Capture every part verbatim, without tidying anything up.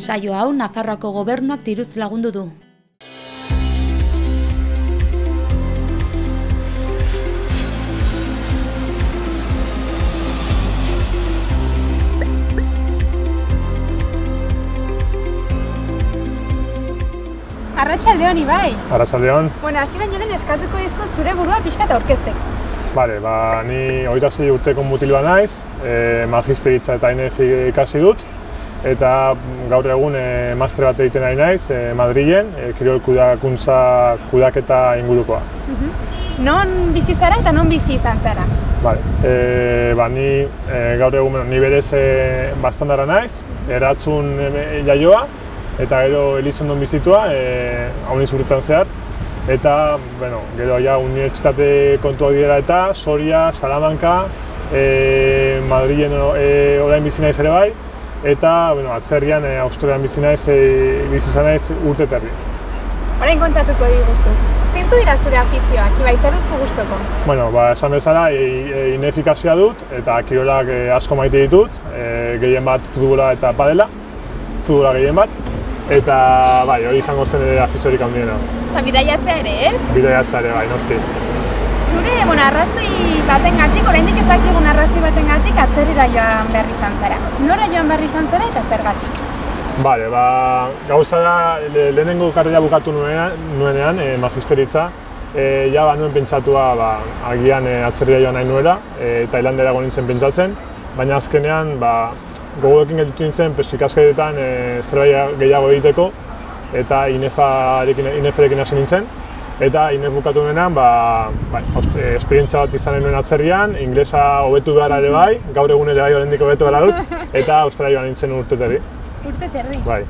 Saio hau Nafarroako gobernuak diruz lagundu du. Arratsaldeon, Ibai. Arratsaldeon. Bueno, hasi baino lehen eskatuko dizut zure burua pixka eta aurkezteko. Bale, ba, ni hogeita sei urteko mutiloa naiz, e, magisteritza eta I N F ikasi dut, eta gaur egun e, master bat egiten ari naiz, e, Madrilen, e, kirol kudeakuntza kudeaketa ingurukoa. Uh-huh. Non bizi zara eta non bizi izan zara? Bale, e, ba, ni e, gaur egun, bueno, ni berez e, bastandara naiz, Eratzun e, jaioa, eta gero Elizondon bizitua, e, hauniz urtetan zehar, eta bueno, gero ja unibertsitate kontuak direla eta Soria, Salamanca, e, Madrilen e, orain bizi naiz ere bai, eta bueno, atzerrian e, Australian bizi naiz, e, bizi izan naiz urte terdi. Orain kontatuko diguzu. Zeintzu dira zure afizioak, Ibai, zer duzu gustoko? Bueno, ba, esan bezala, e, e, inefikasia dut, eta kirolak e, asko maite ditut, e, gehien bat futbola eta padela, futbola gehien bat, eta bai, hori izango zen ere afiziorik handiena. Eta bidaiatzea ere, ez? Bidaiatzea ere, bai, noski. Zure, bueno, arrazoi batengatik, oraindik ez dakigun arrazoi batengatik atzerrira joan behar izan zara. Nora joan behar izan zara eta zergatik? Bale, ba, gauza da, le, lehenengo karrera bukatu nuenean, nuenean e, magisteritza, e, ja ba, nuen pentsatua, ba, agian e, atzerrira joan nahi nuela, e, Tailandera nintzen pentsatzen, baina azkenean, ba, gogoekin gelditu nintzen, ikasketetan e, zerbait gehiago egiteko, eta I N F-rekin hasi nintzen. Eta I N F bukatu nuenean, ba, ba, esperientzia bat izan nuen atzerrian, inglesa hobetu behar ere bai, gaur egun ere bai oraindik hobetu behar dut, eta Australia joan nintzen urte terdi. Urte terdi? Bai.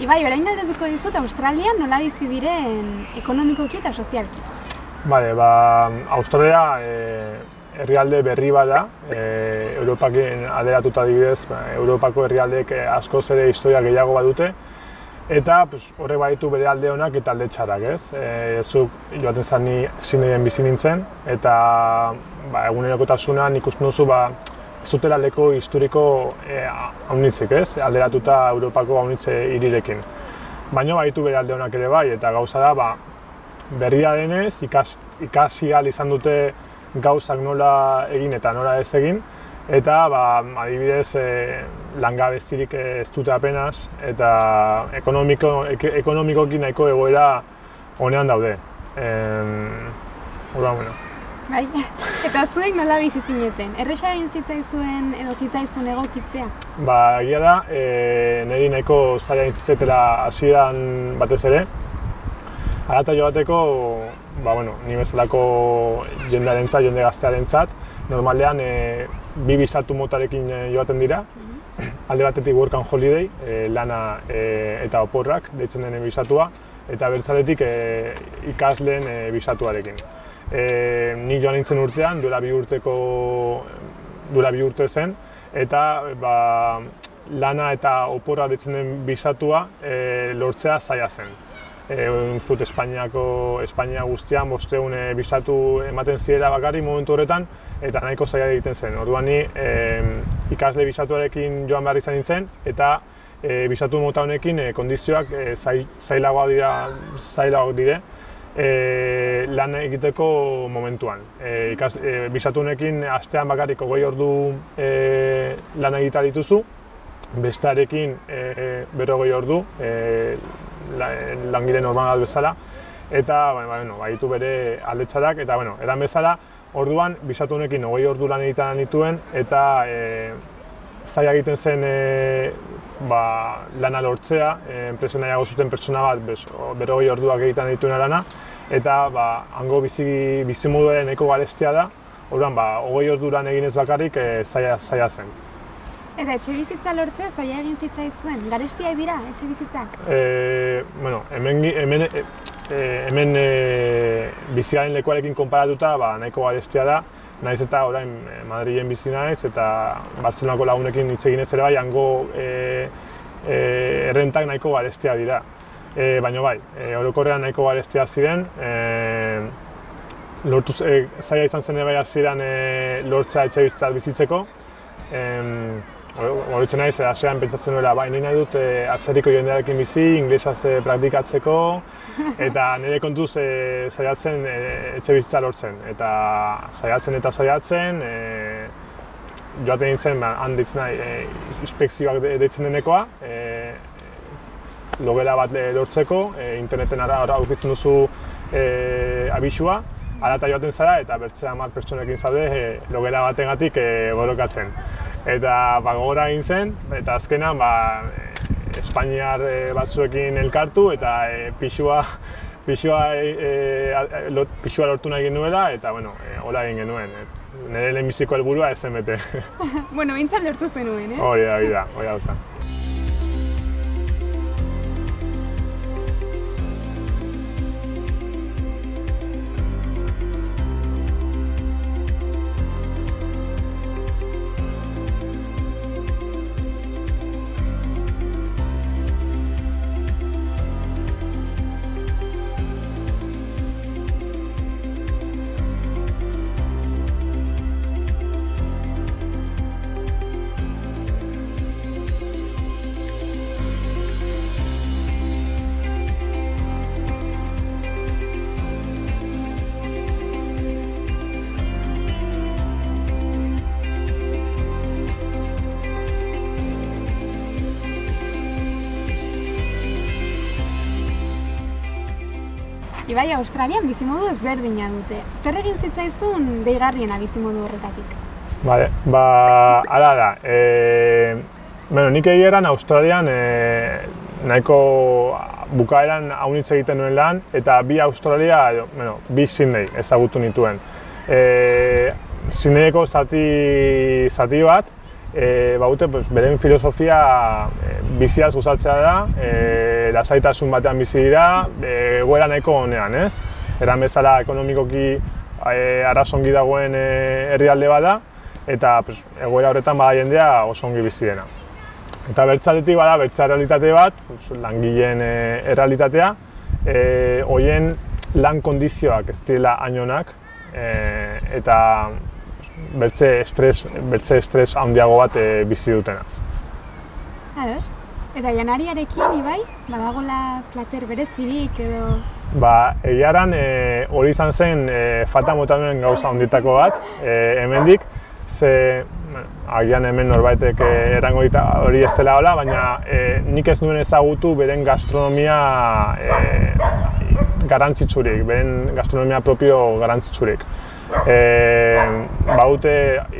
Ibai, orain galdetuko dizut Australian nola bizi diren ekonomikoki eta sozialki? Bale, ba, Australia e, herrialde berri bat da, e, Europakin aderatuta adibidez, ba, Europako herrialdeek askoz ere historia gehiago badute, eta pues, horrek baditu bere alde onak eta alde txarrak, ez? E, zuk joaten zan ni Sydneyen bizi nintzen, eta ba, egunerokotasunan ikusten duzu ba, ez dutela leko historiko e, haunitzik, ez? Alderatuta Europako haunitze hirirekin. Baina baditu bere alde onak ere bai, eta gauza da, ba, berria denez, ikas, ikasi ahal izan dute gauzak nola egin eta nola ez egin, eta ba, adibidez e, langabezirik ez dute apenas, eta ekonomiko, ek, ekonomikoki nahiko egoera honean daude. Hora, bueno. Bai, eta zuek nola bizi zineten? Erresa egin zitzaizuen edo zitzaizun egokitzea? Ba, egia da, e, niri nahiko zaila egin zitzaitela hasieran batez ere. Harata joateko, ba, bueno, ni bezalako jendearentzat, jende gaztearentzat, normalean e, bi bisatu motarekin joaten dira. Alde batetik work and holiday, e, lana e, eta oporrak, deitzen denen bisatua, eta bertzaletik e, ikasleen e, bisatuarekin. E, nik joan nintzen urtean, duela bi urteko, duela bi urte zen, eta ba, lana eta oporra deitzen den bisatua e, lortzea zaila zen. E, Uztut Espainiako, Espainia guztian bostehun e, bisatu ematen zirela bakarrik momentu horretan, eta nahiko zaila egiten zen. Orduan ni e, ikasle bisatuarekin joan behar izan nintzen, eta e, bisatu mota honekin e, kondizioak e, zailagoak dira, zailagoak dire, E, lan egiteko momentuan. E, ikas, e, bisatunekin astean bakarrik hogei ordu e, lan egita dituzu, bestearekin e, berrogei ordu, e, langile normal bezala, eta bueno, baditu bere aldetxarak, eta bueno, eran bezala, orduan, bisatu honekin hogei ordu lan egiten nituen, eta e, zaila egiten zen e, ba, lana lortzea, e, enpresen nahiago zuten pertsona bat, berrogei orduak egiten dituen lana, eta ba, hango bizi, bizimoduaren nahiko garestia da, orduan, ba, hogei ordu lan eginez bakarrik e, zaila, zaila zen. Eta etxe bizitza lortzea zaila egin zitzaizuen, garestiak dira etxe bizitzak? E, bueno, hemen, hemen, e, hemen e, biziaren lekuarekin konparatuta ba, nahiko garestia da, naiz eta orain Madrilen bizi naiz eta Bartzelonako lagunekin hitz eginez ere bai, hango e, e, errentak nahiko garestia dira. E, baina bai, e, orokorrean nahiko garestia ziren, e, lortu, e, zaila izan zen bai hasieran e, lortzea etxe bizitzat bizitzeko. E, Horretzen naiz, hasieran pentsatzen nuela, bai, nire nahi dut e, azerriko jendearekin bizi, inglesaz e, praktikatzeko, eta nire kontuz e, saiatzen e, etxe bizitza lortzen. Eta saiatzen eta saiatzen, e, joaten nintzen, ba, han ditzen nahi, e, inspekzioak deitzen denekoa, e, logela bat lortzeko, e, interneten ara aurkitzen duzu e, abisua, hala eta joaten zara, eta bertze hamar pertsonekin zaude e, logela batengatik e, borrokatzen. Eta ba, gogora egin zen, eta azkenan ba, Espainiar e, batzuekin elkartu eta e, pixua, pixua, e, e, lot, pixua lortu nahi genuela eta bueno, e, hola egin genuen. Et, nire lehenbiziko helburua ez zen bete. Bueno, behintzat lortu zenuen, eh? Hori da, hori da, hori da. Ibai, Australian bizimodu ezberdina dute. Zer egin zitzaizun deigarriena bizimodu horretatik? Vale, ba, ala da. E, bueno, nik egieran Australian e, nahiko bukaeran haunitz egiten nuen lan, eta bi Australia, bueno, bi Sydney ezagutu nituen. E, Sydneyeko zati, zati bat, e, baute, pues, beren filosofia e, biziaz gustatzea da, e, lasaitasun batean bizi dira, e, egoera nahiko honean, ez? Eran bezala ekonomikoki e, arrazongi dagoen e, herrialde bada, eta pues, egoera horretan bada jendea oso ongi bizi dena. Eta bertzaletik bada, bertza errealitate bat, pues, langileen e, errealitatea, e, hoien lan kondizioak ez direla hain onak, e, eta bertze estres, bertze estres handiago bat e, bizi dutena. Ados. Eta janariarekin, Ibai, badagola plater berezirik edo... Ba, egiaran e, hori izan zen e, falta mota duen gauza handietako bat, e, hemendik, ze agian hemen norbaitek e, erango dita hori ez dela hola, baina e, nik ez nuen ezagutu beren gastronomia e, garantzitsurik, beren gastronomia propio garantzitsurik. E, baute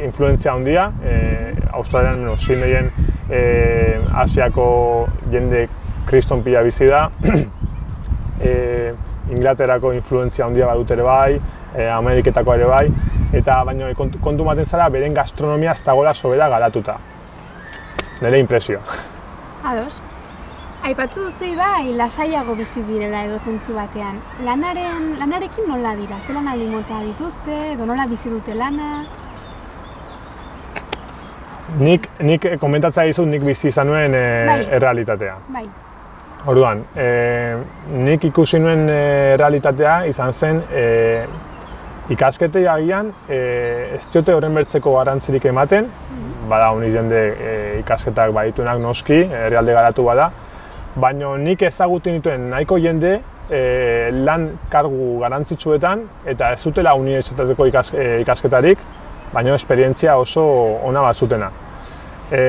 influentzia handia, e, Australian, bueno, Sydneyen, e, Asiako jende kriston pila bizi da, e, Inglaterrako influentzia handia badut ere bai, e, Ameriketako ere bai, eta baina kontu, kontu maten zara beren gastronomia ez dagoela sobera garatuta. Nire impresioa. Ados. Aipatzu duzu Ibai, lasaiago bizi direla edo zentzu batean. Lanaren, lanarekin nola dira? Ze lan aldi mota dituzte, edo nola bizi dute lana? Nik, nik komentatzea dizut nik bizi izan nuen e, bai. errealitatea. Bai. Orduan, e, nik ikusi nuen e, errealitatea izan zen e, ikasketei agian e, ez diote horren bertzeko garrantzirik ematen, mm-hmm. Bada honi jende e, ikasketak badituenak noski, herrialde garatu bada, baina nik ezagutu nituen nahiko jende e, lan kargu garrantzitsuetan eta ez zutela unibertsitateko ikas, e, ikasketarik, baina esperientzia oso ona bat zutena. E,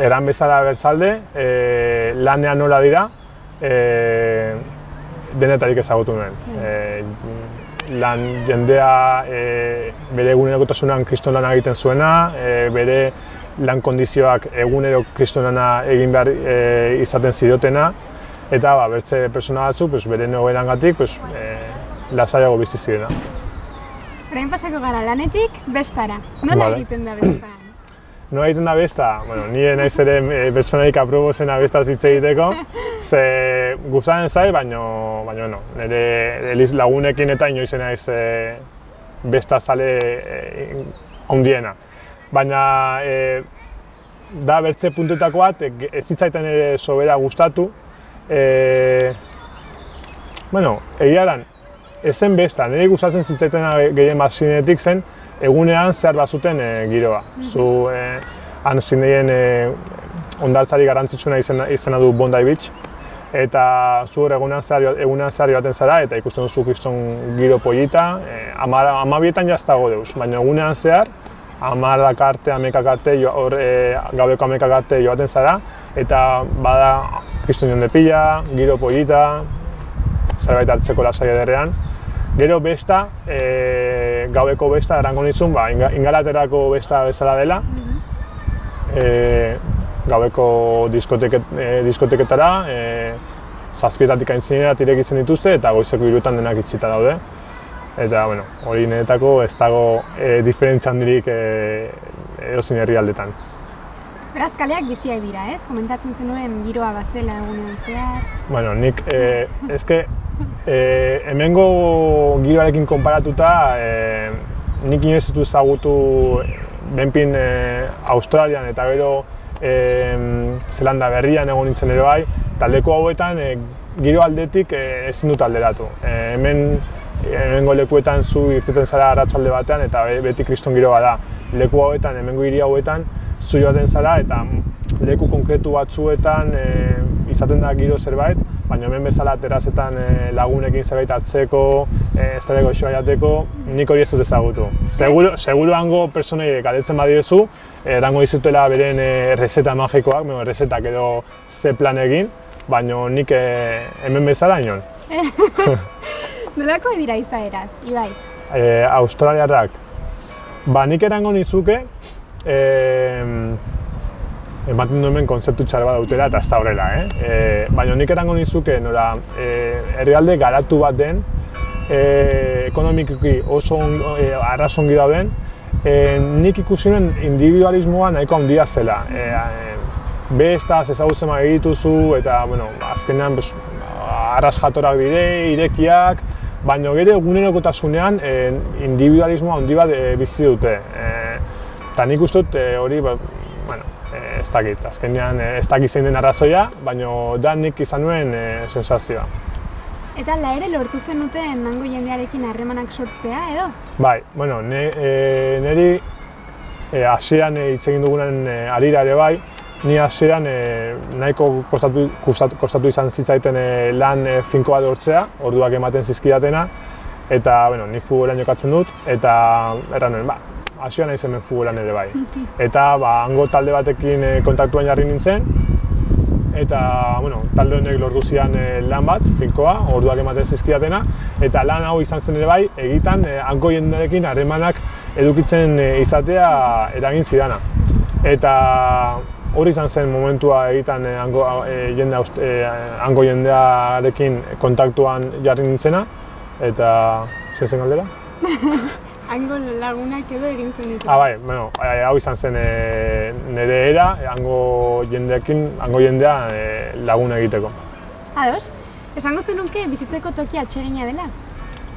eran bezala bertzalde, e, lanean nola dira, e, denetarik ezagutu nuen. E, lan jendea e, bere egunerokotasunan kriston lana egiten zuena, e, bere lan kondizioak egunero kriston lana egin behar e, izaten zidotena, eta ba, bertze persona batzuk pues, bere egoerangatik pues, e, lasaiago bizi zirena. Orain pasako gara lanetik bestara. Nola Vale. egiten da besta? Nola egiten da besta? Bueno, nire naiz ere e, pertsonarik aprobozena bestaz hitz egiteko, ze gustatzen zait, baino, baino no. Nire eliz lagunekin eta inoiz naiz e, besta zale e, handiena. Baina e, da bertze puntuetako bat, e, ez zitzaiten ere sobera gustatu. E, bueno, egia eran, ez zen besta, nire gustatzen zitzaiten gehien bat zinetik zen, egunean zehar bazuten e, giroa. Zu, e, han zineien e, ondartzari garrantzitsuna izena, izena du Bondi Beach, eta zu egunean zehar, egunean zehar joaten zara, eta ikusten duzu kriston giro polita, e, amabietan jaztago deuz, baina egunean zehar, amarrak arte, amekak arte, hor e, gaudeko amekak arte joaten zara, eta bada kriston jonde pila, giro polita, zerbait hartzeko lasai ederrean. Gero besta, e, gaueko besta erango nizun, ba, ingalaterako besta bezala dela, e, gaueko diskoteket, e, diskoteketara, e, zazpietatik aintzinera tirek izan dituzte eta goizeko hirutan denak itxita daude. Eta, bueno, hori niretako ez dago e, diferentzia handirik e, edozein herrialdetan. Beraz, kaleak biziak dira, ez? Komentatzen zenuen giroa bazela egunean zehar. Bueno, nik, e, eske, e, hemengo giroarekin konparatuta, e, nik inoiz ez du ezagutu benpin e, Australian eta gero e, Zelanda Berrian egon nintzen ere bai, taldeko hauetan e, giro aldetik e, ezin dut alderatu. E, hemen hemengo lekuetan zu irteten zara arratsalde batean eta beti kriston giroa da. Leku hauetan, hemengo hiri hauetan, zu joaten zara eta leku konkretu batzuetan e, izaten da giro zerbait, baina hemen bezala terazetan e, lagunekin zerbait hartzeko, e, ez daleko xoa jateko, nik hori ez dut ezagutu. Seguro, seguro hango pertsonei galdetzen badiezu, erango dizutela beren e, errezeta magikoak, bueno, errezetak edo ze plan egin, baina nik e, hemen bezala inon. Nolako dira izaeraz, Ibai? E, Australiarrak, ba nik erango nizuke, e, ematen du hemen kontzeptu txar bat dautela eta ez da horrela, eh? E, baina nik erango nizuke nora e, herrialde garatu bat den, e, ekonomikoki oso on, e, arras ongi dauden, e, nik ikusi nuen individualismoa nahiko handia zela. E, e, bestaz ezagutzen egituzu eta, bueno, azkenean pues, arras jatorak dire, irekiak, baina gero egunerokotasunean e, individualismoa handi bat e, bizi dute. Eta nik uste dut hori, ba, bueno, e, ez dakit, azkenean ez dakit zein den arrazoia, baina da nik izan nuen e, sensazioa. Eta la ere lortu zenuten hango jendearekin harremanak sortzea, edo? Bai, bueno, ne, e, niri hasieran e, hitz egin dugunen e, harira ere bai, ni hasieran e, nahiko kostatu, kostatu, kostatu izan zitzaiten e, lan e, finko bat lortzea, orduak ematen zizkidatena, eta bueno, ni futbolean jokatzen dut, eta erran nuen, ba, hasieran naiz hemen futbolean ere bai. Eta ba, hango talde batekin e, kontaktuan jarri nintzen, eta bueno, talde honek lortu zidan e, lan bat, finkoa, orduak ematen zizkidatena, eta lan hau izan zen ere bai, egitan e, hango jendearekin harremanak edukitzen e, izatea eragin zidana. Eta hori izan zen momentua egitan e, hango, e, jende, e, hango jendearekin kontaktuan jarri nintzena, eta zer zen galdera? Hango lagunak edo egin zen ditu. Ah, bai, bueno, hau izan zen e, nire era, hango jendeekin, hango jendea e, lagun egiteko. Ados, esango zenunke bizitzeko toki atsegina dela?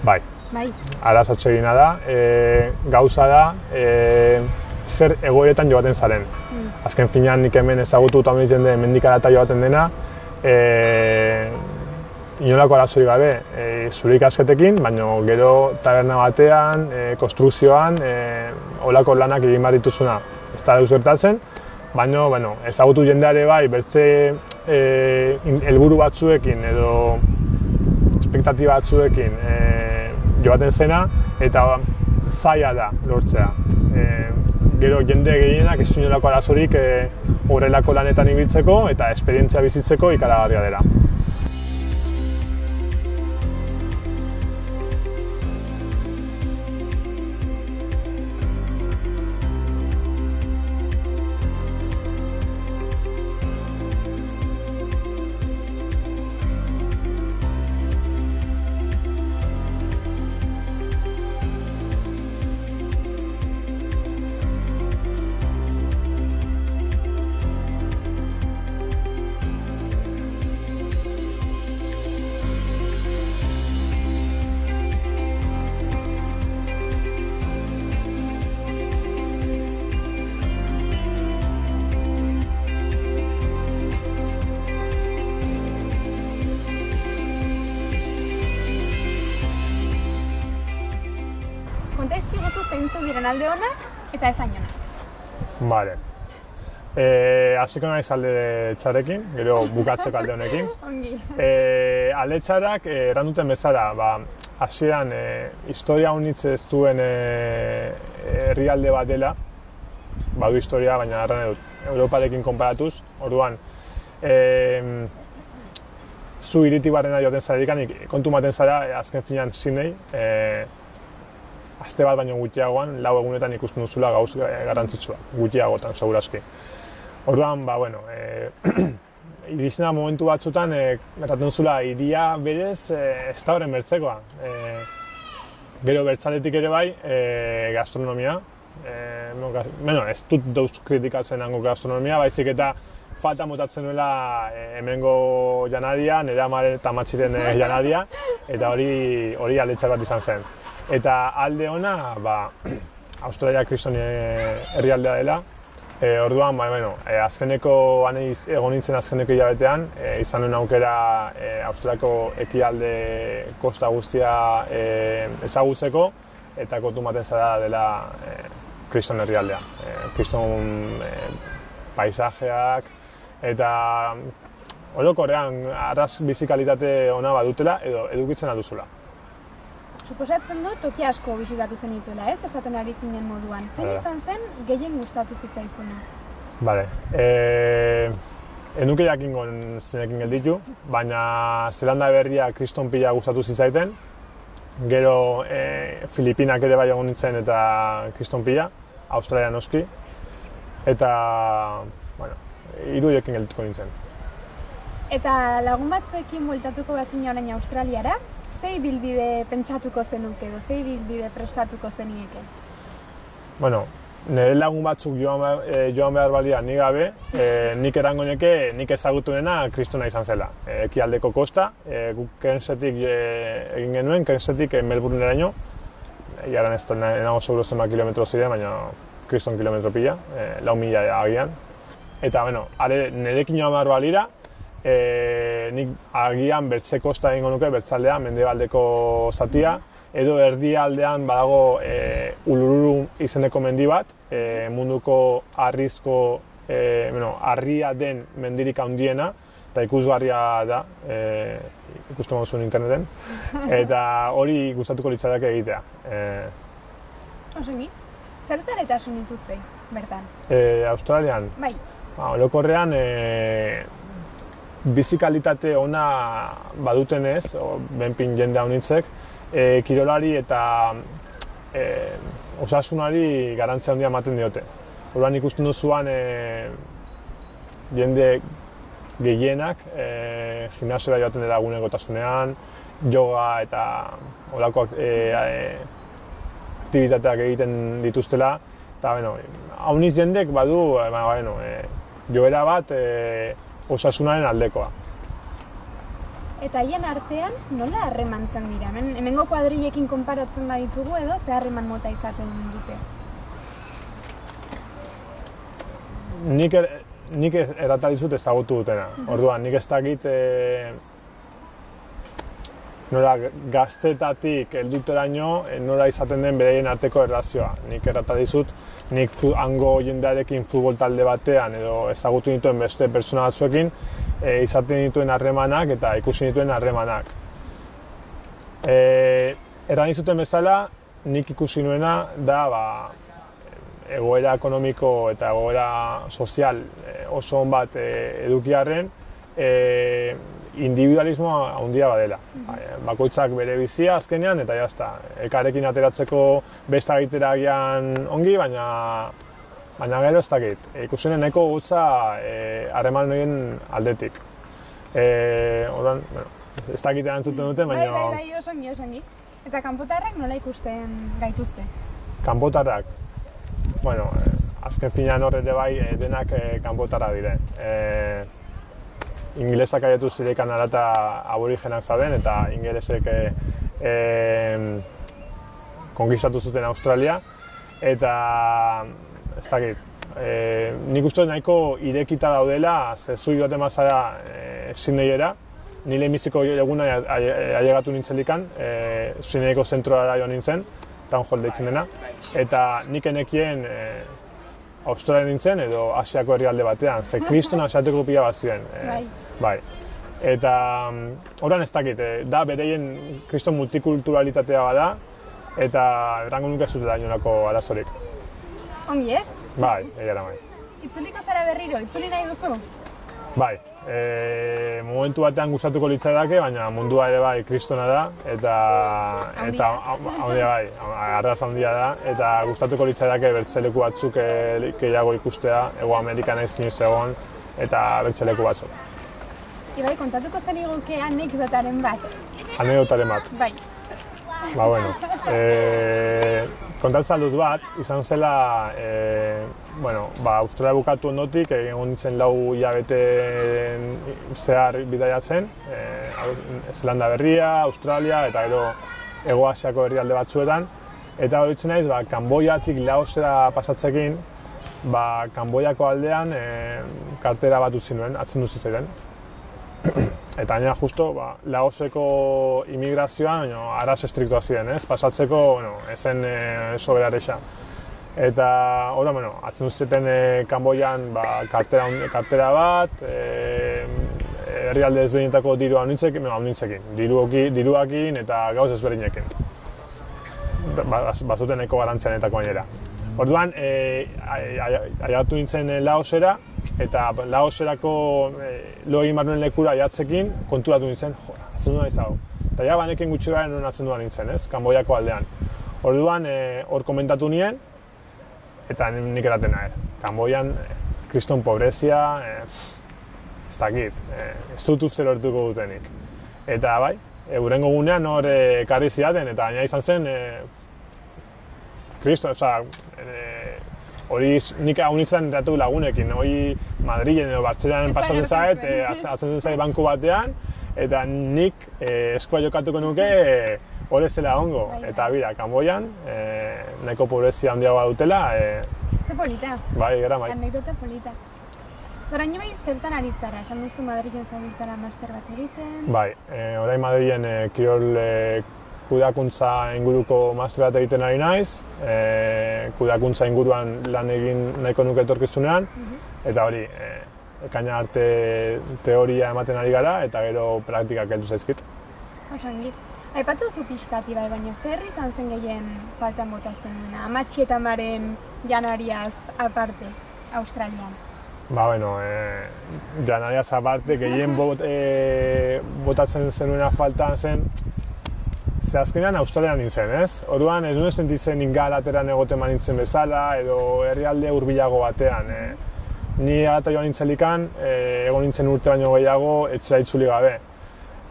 Bai. Bai. Araz atsegina da, e, gauza da, e, zer egoeretan joaten zaren. Mm. Azken finean nik hemen ezagutu eta hori jende hemendik harata joaten dena, e, inolako arazorik gabe, e, zure ikasketekin, baina gero taberna batean, e, konstrukzioan, e, olako lanak egin behar dituzuna. Ez da deus gertatzen, baina bueno, ezagutu jendeare bai, bertze e, helburu batzuekin edo espektatiba batzuekin e, joaten zena, eta zaila da lortzea. E, gero jende gehienak ez du inolako arazorik e, horrelako lanetan ibiltzeko eta esperientzia bizitzeko ikaragarria dela. diren alde onak eta ez hain onak. Vale. E, hasiko naiz alde txarekin, gero bukatzeko alde honekin. Ongi. E, alde txarak, e, erranduten bezala, ba, hasieran e, historia unitz ez duen e, herrialde bat dela, badu historia, baina erran edut, Europarekin konparatuz, orduan, e, zu iriti barrena joaten zarerikan, kontu maten zara, azken finean Sydney, e, aste bat baino gutxiagoan, lau egunetan ikusten duzula gauz garrantzitsua, gutxiagotan, segurazki. Orduan, ba, bueno, e, iritsena momentu batzutan, e, erraten duzula, iria berez e, ez da horren bertzekoa. E, gero bertzaletik ere bai, e, gastronomia, e, bueno, ez dut dauz kritikatzen hango gastronomia, baizik eta falta motatzen nuela e, hemengo janaria, nire amaren eta matxiren e, janaria, eta hori hori alde txar bat izan zen. Eta alde ona, ba, Australia kriston herrialdea dela, e, orduan, ba, bueno, e, azkeneko, aneiz, egon nintzen azkeneko hilabetean, e, izan nuen aukera e, Australiako ekialde kosta guztia e, ezagutzeko, eta kontu maten zara dela e, kriston herrialdea. E, kriston e, paisajeak, eta orokorrean arras bizikalitate ona badutela edo edukitzen alduzula. Suposatzen dut toki asko bisitatu zenituela, ez? Esaten ari zinen moduan. Zein izan zen gehien gustatu zitzaizuna? Bale. Eh, enuke jakingo zenekin gelditu, baina Zelanda berria kriston pila gustatu zitzaiten. Gero eh, Filipinak ere bai egon nintzen eta kriston pila, Australia noski. Eta, bueno, hiruekin geldituko nintzen. Eta lagun batzuekin bueltatuko bazina orain Australiara, ze ibilbide pentsatuko zenuke edo, ze ibilbide prestatuko zenieke? Bueno, nire lagun batzuk joan behar, e, joan behar balia ni gabe, e, nik erango neke nik ezagutunena kristona izan zela. E, ekialdeko kosta, e, guk Cairnsetik e, egin genuen, Cairnsetik e, Melbourneraino. Egaran ez da nago seguro zenba kilometro ziren, baina kriston kilometro pila, e, lau mila agian. Eta, bueno, are, nirekin joan behar balira, e, nik agian bertze kosta egingo nuke, bertzaldean, mendebaldeko zatia, edo erdialdean badago e, Uluru izeneko mendi bat, e, munduko harrizko, e, bueno, harria den mendirik handiena, eta ikusgarria da, e, ikusten moduzun interneten, eta hori gustatuko litzateke egitea. E, Osongi, zer zaletasun dituzte bertan? E, Australian? Bai. Ba, orokorrean, e, bizikalitate ona badutenez, benpin jende haunitzek, e, kirolari eta e, osasunari garantzia handia ematen diote. Orduan ikusten duzuan e, jende gehienak e, gimnasiora joaten dela egunekotasunean, yoga eta holako e, e, aktibitateak egiten dituztela. Eta, bueno, hauniz jendek badu, e, bueno, e, joera bat e, osasunaren aldekoa. Eta haien artean nola harremantzen dira? Hemen, hemengo kuadrillekin konparatzen baditugu edo ze harreman mota izaten dute? Nik, er, nik errata dizut ezagutu dutena. Orduan, nik ez dakit e, nola gaztetatik helduteraino e, nola izaten den beraien arteko erlazioa. Nik errata dizut, nik hango jendearekin futbol talde batean edo ezagutu dituen beste pertsona batzuekin e, izaten dituen harremanak eta ikusi dituen harremanak. E, erran dizuten bezala, nik ikusi nuena da ba, egoera ekonomiko eta egoera sozial e, oso on bat e, edukiarren e, individualismoa handia badela. Bakoitzak bere bizia azkenean eta jazta. Elkarrekin ateratzeko besta egitera agian ongi, baina baina gero ez dakit. Ikusenen nahiko gutza harreman e, horien aldetik. E, Orduan, bueno, ez dakit erantzuten duten, baina... Bai, bai, bai, osongi, osongi. Eta kanpotarrak nola ikusten gaituzte? Kanpotarrak? Bueno, azken finean hor ere bai denak kanpotarra dire. E, ingelesak aietu zirekan arata aborigenak zauden eta ingelesek e, e, konkistatu zuten Australia eta ez dakit, e, nik uste nahiko irekita daudela, ze zu joaten mazara e, Sydneyera, ni lehenbiziko eguna ailegatu nintzen likan, e, Sydneyko zentroara joan nintzen, town hall deitzen dena, eta nik enekien e, Australia nintzen edo Asiako herrialde batean, ze kriston asiateko pila bat ziren. E, bai. Eta oran ez dakit, e, da bereien kriston multikulturalitatea bada, eta errango nuke zutela inolako arazorik. Ongi ez? Bai, egia da bai. Itzuliko zara berriro, itzuli nahi duzu? Bai, e, momentu batean gustatuko litzaidake, baina mundua ere bai kristona da, eta eta handia bai, arras handia da, eta gustatuko litzaidake bertzeleku batzuk gehiago ikustea, Hego Amerikan ez inoiz egon, eta bertzeleku batzuk. Ibai, kontatuko zen iguke anekdotaren bat? Anekdotaren bat? Bai. Ba, bueno, e, kontatzen dut bat, izan zela, e, bueno, ba, Australia bukatu ondotik, egon nintzen lau hilabete zehar bidaiatzen, e, Zelanda Berria, Australia eta gero Hego Asiako herrialde batzuetan, eta horitzen naiz, ba, Kanboiatik Laosera pasatzekin, ba, Kanboiako aldean e, kartera bat utzi nuen, atzen dut zitzaidan. Eta gainera justo, ba, Laoseko imigrazioan, no, araz estriktoa ziren, ez? Pasatzeko, bueno, ezen e, soberarexa. Eta, ora, bueno, atzen duzeten e, Kanboian ba, kartera, kartera bat, e, herrialde ezberdinetako dirua honintzekin, no, honintzekin, diruoki, diruakin eta gauz ezberdinekin. Ba, bazuten eko garantzianetako gainera. Orduan, e, aiatu nintzen Laosera, eta Laoserako e, lo egin barnuen lekura aiatzekin konturatu nintzen, jo, atzen duan izago. Eta ja, banekin gutxi gara nuen atzen duan nintzen, ez, Kanboiako aldean. Orduan, hor e, komentatu nien, eta nik eraten nahi. Kanboian, kriston pobrezia, e, ez dakit, e, ez dut uste lortuko dutenik. Eta bai, e, hurrengo gunean hor ekarri zidaten, eta gaina izan zen, e, kriston, oza, hori nik hau nintzen eratu lagunekin, hori Madrilen edo Bartzelan pasatzen zait, e, atzen zait banku batean, eta nik e, eskua jokatuko nuke hori zela ongo. Eta bira, Kanboian, e, nahiko pobrezia handiagoa dutela. E, Ze polita. Bai, gara bai. Anekdota polita. Orain bai zertan ari zara, esan duzu Madrilen zabiltzara master bat egiten? Bai, e, orain Madrilen e, kirol e, kudeakuntza inguruko master bat egiten ari naiz, e, kudeakuntza inguruan lan egin nahiko nuke etorkizunean, eta hori, e, ekaina arte teoria ematen ari gara, eta gero praktikak heldu zaizkit. Osangi. Aipatu zu pixkati bai, baina zer izan zen gehien faltan bota zenuna, amatxi eta amaren janariaz aparte, Australian? Ba, bueno, e, janariaz aparte, gehien bot, e, botatzen zenuena faltan zen, ze azkenean Australian nintzen, ez? Orduan ez nuen sentitzen ingalateran egoten nintzen bezala, edo herrialde hurbilago batean. E, ni alata joan nintzelikan, e, egon nintzen urte baino gehiago, etxera itzuli gabe.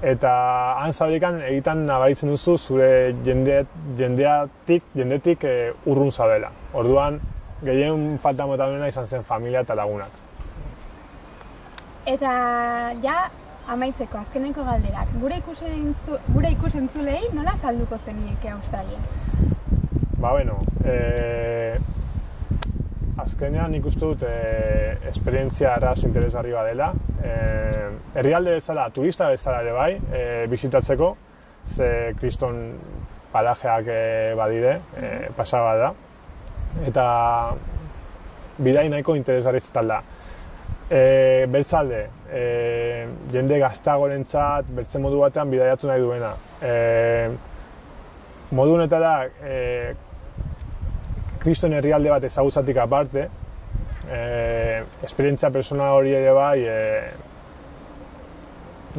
Eta han zaurikan egiten nabaritzen duzu zure jende, jendeatik, jendetik e, urrun zabela. Orduan, gehien falta mota duena izan zen familia eta lagunak. Eta ja, amaitzeko, azkeneko galderak, gure ikusentzu, gure ikusentzulei nola salduko zenieke Australia? Ba, bueno, e, azkenean nik uste dut e, esperientzia arras interesgarri badela. E, herrialde bezala, turista bezala ere bai, e, bisitatzeko, ze kriston parajeak e, badire, e, pasaba da. Eta bidai nahiko interesgarri zetal da. E, bertzalde, e, jende gaztagorentzat, bertzen modu batean bidaiatu nahi duena. E, modu honetara, e, kriston herrialde bat ezagutzatik aparte, e, esperientzia personal hori ere bai, e,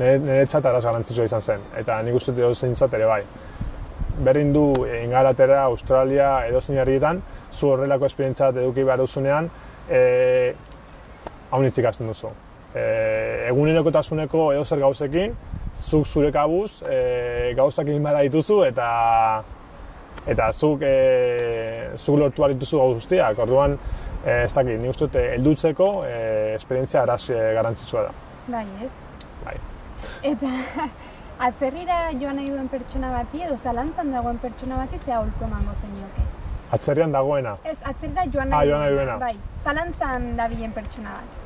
niretzat araz garantzitsua izan zen, eta nik uste dut zeintzat ere bai. Berdin du Ingalaterra, Australia, edozein herrietan, zu horrelako esperientzia bat eduki behar duzunean, e, hau nitzik ikasten duzu. E, egunerokotasuneko edozer gauzekin, zuk zure kabuz, e, gauzak egin behar dituzu eta eta zuk, e, zuk lortu behar dituzu gau guztiak. Orduan, e, ez dakit, nik uste dut heldutzeko e, esperientzia araz e, garantzitsua da. Bai, ez? Bai. Eta atzerrira joan nahi duen pertsona bati edo zalantzan dagoen pertsona bati ze aholku emango zenioke? Atzerrian dagoena? Ez, atzerrira joan nahi, ah, joan nahi duena. Bai, zalantzan dabilen pertsona bat.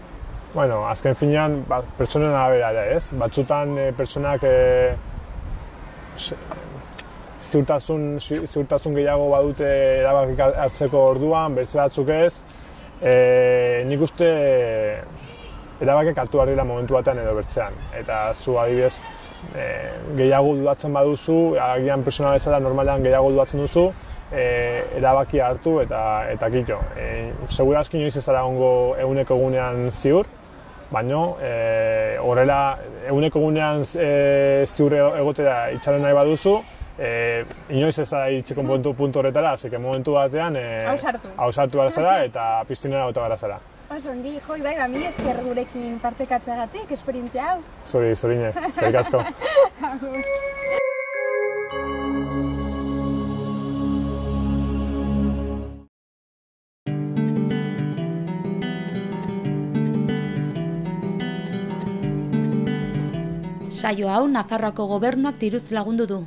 Bueno, azken finean, ba, pertsonen arabera ere, ez? Batzutan e, pertsonak e, ziurtasun, ziurtasun gehiago badute erabakik hartzeko orduan, beste batzuk ez, e, nik uste erabakik hartu behar dira momentu batean edo bertzean. Eta zu adibidez, e, gehiago dudatzen baduzu, agian pertsona bezala normalean gehiago dudatzen duzu, e, erabakia hartu eta, eta kito. E, Segurazki inoiz ez zara ongo eguneko egunean ziur, baina e, horrela eguneko egunean e, ziur egotera itxaron nahi baduzu, e, inoiz ez zara iritsiko puntu, puntu horretara, así que momentu batean e, Ausartu. ausartu gara zara eta piztinera gota gara zara. Oso, ongi, joi, bai, ba, mila esker gurekin partekatzeagatik, esperientzia hau. Zori, zorine, zorik asko. Agur. Saio hau Nafarroako Gobernuak diruz lagundu du.